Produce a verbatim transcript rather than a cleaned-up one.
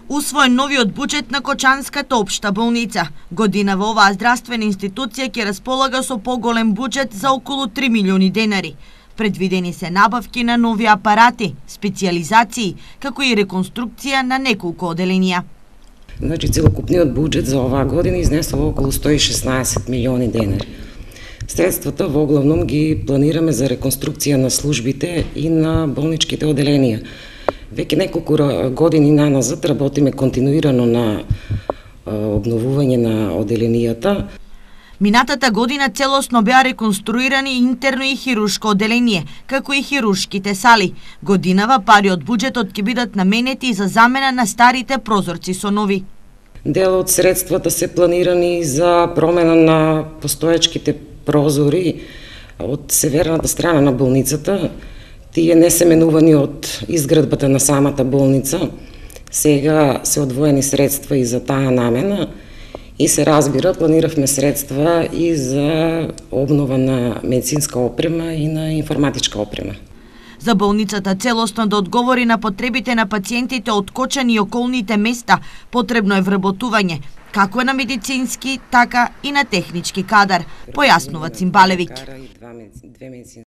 Усвоен новиот буџет на Кочанската општа болница. Годинава оваа здравствена институција ќе располага со поголем буџет за околу три милиони денари. Предвидени се набавки на нови апарати, специјализации, како и реконструкција на неколку оделенија. Значи, целокупниот буџет за оваа година изнесува околу сто и шеснаесет милиони денари. Средствата во главном ги планираме за реконструкција на службите и на болничките оделенија. Веќе неколку години наназад работиме континуирано на обновување на оделенијата. Минатата година целосно беа реконструирани интерно и хируршко оделение, како и хируршките сали. Годинава пари од буџетот ќе бидат наменети за замена на старите прозорци со нови. Дел од средствата се планирани за промена на постоечките прозори од северната страна на болницата. Тие не се менувани од изградбата на самата болница. Сега се одвоени средства и за таа намена и се разбира, планиравме средства и за обнова на медицинска опрема и на информатичка опрема. За болницата целосно да одговори на потребите на пациентите од Кочани и околните места, потребно е вработување, како на медицински, така и на технички кадар, појаснува Цимбалевиќ.